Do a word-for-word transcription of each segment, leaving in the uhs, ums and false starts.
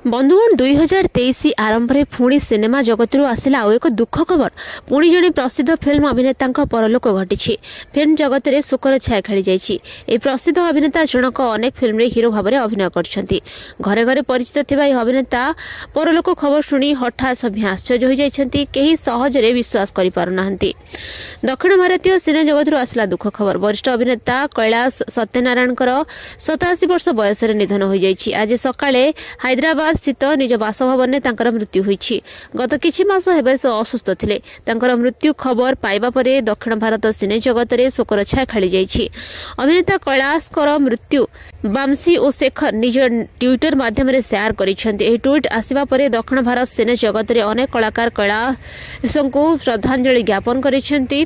ବନ୍ଧୁଗଣ, ଦୁଇ ହଜାର ତେଇଶ ଆରମ୍ଭରେ ପୁଣି ସିନେମା ଜଗତରୁ ଆସିଲା ଆଉ ଏକ ଦୁଃଖ ଖବର। ପୁଣି ଜଣେ ପ୍ରସିଦ୍ଧ ଫିଲ୍ମ ଅଭିନେତାଙ୍କ ପରଲୋକ ଘଟିଛି। ଫିଲ୍ମ ଜଗତରେ ଶୋକର ଛାୟା ଖେଳିଯାଇଛି। ଏହି ପ୍ରସିଦ୍ଧ ଅଭିନେତା ଜଣକ ଅନେକ ଫିଲ୍ମରେ ହିରୋ ଭାବରେ ଅଭିନୟ କରିଛନ୍ତି। ଘରେ ଘରେ ପରିଚିତ ଥିବା ଏହି ଅଭିନେତା ପରଲୋକ ଖବର ଶୁଣି ହଠାତ୍ ସଭିଏଁ ଆଶ୍ଚର୍ଯ୍ୟ ହୋଇଯାଇଛନ୍ତି। କେହି ସହଜରେ ବିଶ୍ୱାସ କରିପାରୁନାହାନ୍ତି। ଦକ୍ଷିଣ ଭାରତୀୟ ସିନେ ଜଗତରୁ ଆସିଲା ଦୁଃଖ ଖବର। ବରିଷ୍ଠ ଅଭିନେତା କୈଳାସ ସତ୍ୟନାରାୟଣଙ୍କର ସତାଅଶୀ ବର୍ଷ ବୟସରେ ନିଧନ ହୋଇଯାଇଛି। ଆଜି ସକାଳେ ହାଇଦ୍ରାବାଦ ସ୍ଥିତ ନିଜ ବାସଭବନରେ ତାଙ୍କର ମୃତ୍ୟୁ ହୋଇଛି। ଗତ କିଛି ମାସ ହେବ ସେ ଅସୁସ୍ଥ ଥିଲେ। ତାଙ୍କର ମୃତ୍ୟୁ ଖବର ପାଇବା ପରେ ଦକ୍ଷିଣ ଭାରତ ସିନେ ଜଗତରେ ଶୋକର ଛାୟା ଖେଳିଯାଇଛି। ଅଭିନେତା କୈଳାସଙ୍କର ମୃତ୍ୟୁ ବାମସି ଓ ଶେଖର ନିଜ ଟ୍ୱିଟର ମାଧ୍ୟମରେ ସେୟାର କରିଛନ୍ତି। ଏହି ଟ୍ୱିଟ୍ ଆସିବା ପରେ ଦକ୍ଷିଣ ଭାରତ ସିନେ ଜଗତରେ ଅନେକ କଳାକାର କୈଳାସଙ୍କୁ ଶ୍ରଦ୍ଧାଞ୍ଜଳି ଜ୍ଞାପନ କରିଛନ୍ତି।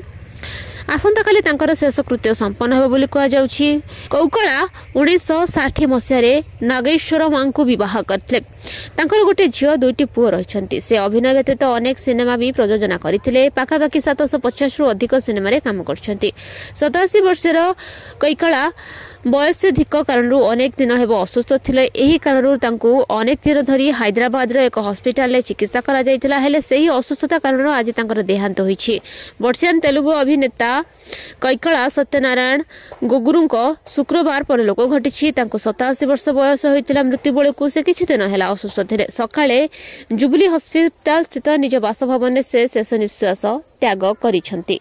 ଆସନ୍ତାକାଲି ତାଙ୍କର ଶେଷକୃତ୍ୟ ସମ୍ପନ୍ନ ହେବ ବୋଲି କୁହାଯାଉଛି। କୌକଳା ଉଣେଇଶହ ଷାଠିଏ ମସିହାରେ ନାଗେଶ୍ୱରମାଙ୍କୁ ବିବାହ କରିଥିଲେ। ତାଙ୍କର ଗୋଟିଏ ଝିଅ, ଦୁଇଟି ପୁଅ ରହିଛନ୍ତି। ସେ ଅଭିନୟ ବ୍ୟତୀତ ଅନେକ ସିନେମା ବି ପ୍ରଯୋଜନା କରିଥିଲେ। ପାଖାପାଖି ସାତଶହ ପଚାଶରୁ ଅଧିକ ସିନେମାରେ କାମ କରିଛନ୍ତି। ସତାଅଶୀ ବର୍ଷର କୈକଳା ବୟସାଧିକ କାରଣରୁ ଅନେକ ଦିନ ହେବ ଅସୁସ୍ଥ ଥିଲେ। ଏହି କାରଣରୁ ତାଙ୍କୁ ଅନେକ ଦିନ ଧରି ହାଇଦ୍ରାବାଦର ଏକ ହସ୍ପିଟାଲରେ ଚିକିତ୍ସା କରାଯାଇଥିଲା। ହେଲେ ସେହି ଅସୁସ୍ଥତା କାରଣରୁ ଆଜି ତାଙ୍କର ଦେହାନ୍ତ ହୋଇଛି। ବର୍ଷିୟାନ ତେଲୁଗୁ ଅଭିନେତା କୈକଳା ସତ୍ୟନାରାୟଣ ଗୋଗୁରୁଙ୍କ ଶୁକ୍ରବାର ପରଲୋକ ଘଟିଛି। ତାଙ୍କୁ ସତାଅଶୀ ବର୍ଷ ବୟସ ହୋଇଥିଲା। ମୃତ୍ୟୁ ବେଳକୁ ସେ କିଛି ଦିନ ହେଲା ଅସୁସ୍ଥ ଥିଲେ। ସକାଳେ ଜୁବୁଲି ହସ୍ପିଟାଲ ସ୍ଥିତ ନିଜ ବାସଭବନରେ ସେ ଶେଷ ନିଶ୍ୱାସ ତ୍ୟାଗ କରିଛନ୍ତି।